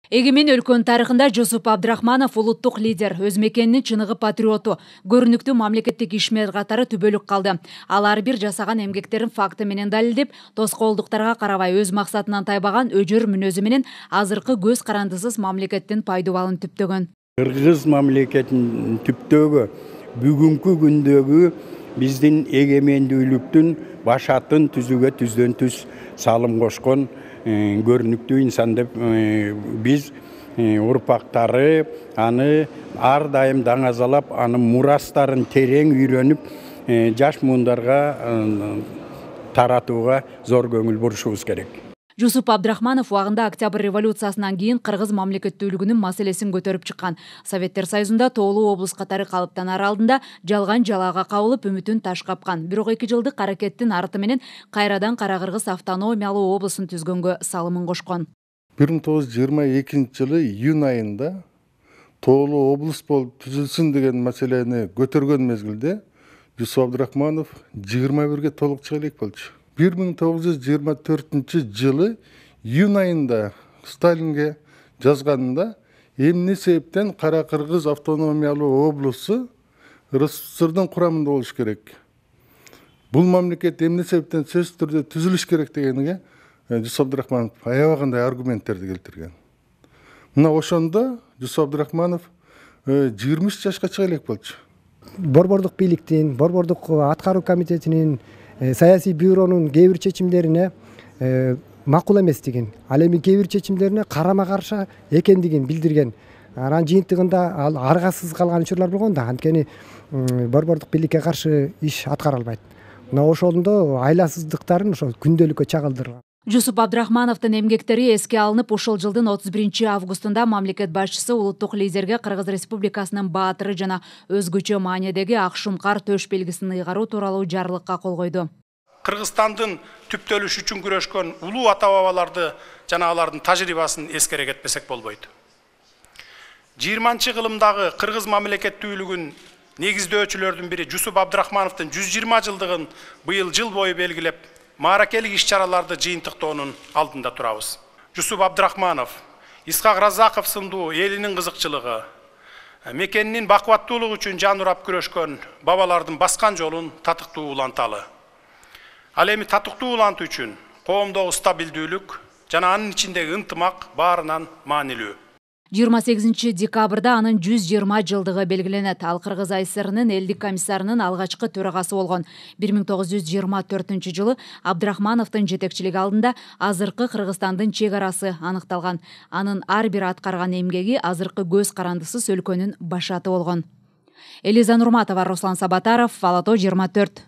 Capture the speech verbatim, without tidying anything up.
Эгемен өлкөнүн тарыхында Жусуп Абдрахманов улуттук лидер, өз мекенинин чыныгы патриоту, көрүнүктүү мамлекеттик ишмер катары түбөлүк калды. Ал ар бир жасаган эмгектерин факты менен далилдеп, тоскоолдуктарга карабай өз максатынан тайбаган өжөр мүнөзү менен азыркы көз карандысыз мамлекеттин пайдубалын түптөгөн. Кыргыз мамлекетин түптөгө бүгүнкү күндөгү биздин эгемендүүлүктүн башатын түзүүгө түздөн түз салым кошкон көрүнүктүү инсан деп биз урпактары аны ар дайым даңазалап, анын мурастарын терең үйрөнүп, жаш муундарга таратууга зор көңүл бурушубуз керек. Жусуп Абдрахманов убагында Октябрь революциясынан кийин кыргыз мамлекеттүүлүгүнүн маселесин көтөрүп чыккан. Советтер Союзунда тоолуу облус катары калыптанар алдында жалган жалаага кабылып, үмүтүн таш капкан. Бирок эки жылдык аракеттин арты менен кайрадан Кара Кыргыз автономиялуу облусун түзгөнгө салымын кошкон. бир миң тогуз жүз жыйырма экинчи жылы июнь айында тоолуу облус болуп түзүлсүн деген маселени көтөргөн мезгилде Жусуп Абдрахманов жыйырма бирге толук чыга элек болчу. бир миң тогуз жүз жыйырма төртүнчү жылы июнь айында Сталинге жазганында эмне себептен Кара Кыргыз автономиялуу облусу РСФСРдын курамында болуш керек, бул мамлекет эмне себептен сөзсүз түрдө түзүлүш керек дегениге Жусуп Абдрахманов аябагандай аргументтерди келтирген. Мына ошондо Жусуп Абдрахманов жыйырма үч жашка чыга элек болчу. Борбордук бийликтин, борбордук аткаруу комитетинин, саясий бюронун кээ бир чечимдерине макул эместигин, ал эми кээ бир чечимдерине карама каршы экендигин билдирген. Анан жыйынтыгында ал аргасыз калган учурлар болгон да, анткени борбордук бийликке каршы иш аткара албайт. Мына ошондо айласыздыктарын ошо күндөлүккө чагылдырган. Жусуп Абдрахмановдун эмгектери эске алынып, ушул жылдын отуз биринчи августунда мамлекет башчысы улуттук лидерге Кыргыз Республикасынын баатыры жана өзгөчө маанидеги ак шумкар төш белгисин ыйгаруу тууралуу жарлыкка кол койду. Кыргызстандын түптөлүшү үчүн күрөшкөн улуу ата-бабаларды жана алардын тажрыйбасын эскере кетпесек болбойт. жыйырманчы кылымдагы кыргыз мамлекеттүүлүгүн негиздөөчүлөрдүн бири Жусуп Абдрахмановдун жүз жыйырма жылдыгын быйыл жыл бою белгилеп, мааракелик иш-чараларды жыйынтыктоонун алдында турабыз. Жусуп Абдрахманов, Исхак Разаков сындуу элинин кызыкчылыгы, мекенинин бакубаттуулугу үчүн жан урап күрөшкөн бабалардын баскан жолун татыктуу уланталы. Ал эми татыктуу улантуу үчүн коомдогу стабилдүүлүк жана анын ичиндеги ынтымак баарынан маанилүү. жыйырма сегизинчи декабрда анын жүз жыйырма жылдыгы белгиленет. Ал Кыргыз АССРнын элдик комиссарынын алгачкы төрагасы болгон. бир миң тогуз жүз жыйырма төртүнчү жылы Абдрахмановдун жетекчилиги алдында азыркы Кыргызстандын чек арасы аныкталган. Анын ар бир аткарган эмгеги азыркы көз карандысыз өлкөнүн башаты болгон. Элиза Нурматова, Руслан Сабатаров, Ала тоо жыйырма төрт.